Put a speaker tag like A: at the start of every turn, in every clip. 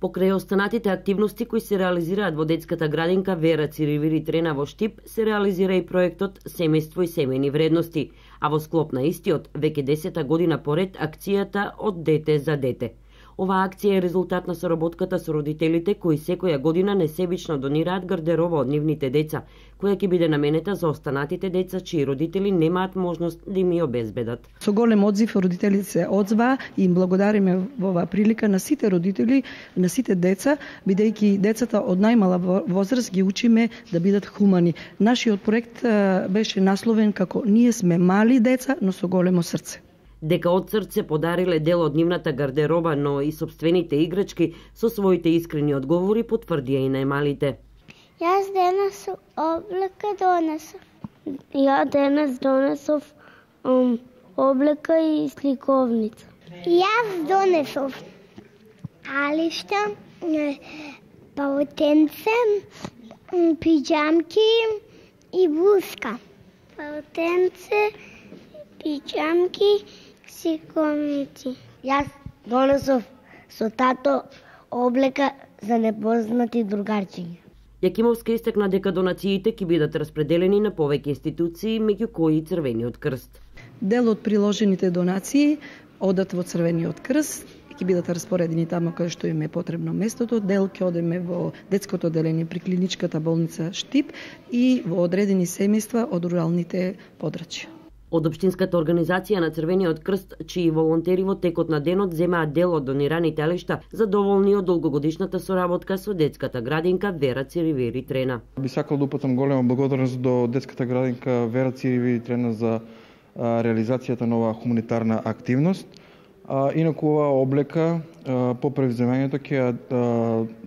A: Покрај останатите активности кои се реализираат во детската градинка Вера Циривири Трена во Штип, се реализира и проектот Семејство и семејни вредности, а во склоп на истиот, веќе 10-та година поред акцијата Од дете за дете. Оваа акција е резултат на соработката со родителите кои секоја година несебично донираат гардероба од нивните деца, која ќе биде наменета за останатите деца чии родители немаат можност да им ја обезбедат.
B: Со голем одзив родителите се одзваа и им благодариме во оваа прилика на сите родители, на сите деца, бидејќи децата од најмала возраст ги учиме да бидат хумани. Нашиот проект беше насловен како Ние сме мали деца, но со големо срце.
A: Дека од срце подариле дел од нивната гардероба, но и собствените играчки, со своите искрени одговори потврдија и најмалите.
C: Јас денес облека донесов. Ја денес донесов облека и сликовница. Јас донесов алишта, паутенце, пиџамки и блуска. Паутенце, пиџамки, сликовници.
D: Јас донесов со тато облека за непознати другарчиња.
A: Јакимовска истакна дека донациите ќе бидат распределени на повеќе институции, меѓу кои и Црвениот крст.
B: Дел од приложените донации одат во Црвениот крст, ќе бидат распоредени таму каде што им е потребно местото, дел ќе одеме во детското одделение при клиничката болница Штип и во одредени семејства од руралните подрачја.
A: Од Општинската организација на Црвениот крст, чии волонтери во текот на денот земаат дел од донираните алишта, задоволни од долгогодишната соработка со детската градинка Вера Циривири Трена.
E: Би сакал да упатам голема благодарност до детската градинка Вера Циривири Трена за реализацијата на оваа хуманитарна активност. Инаку оваа облека по превземањето ќе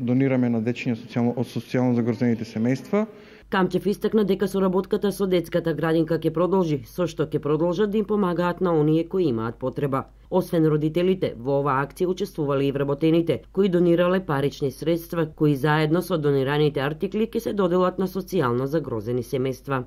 E: донираме на дечиња од социјално загрозените семејства.
A: Камчев истакна дека соработката со детската градинка ќе продолжи, со што ќе продолжат да им помагаат на оние кои имаат потреба. Освен родителите, во оваа акција учествувале и вработените, кои донирале парични средства, кои заедно со донираните артикли ќе се доделат на социјално загрозени семејства.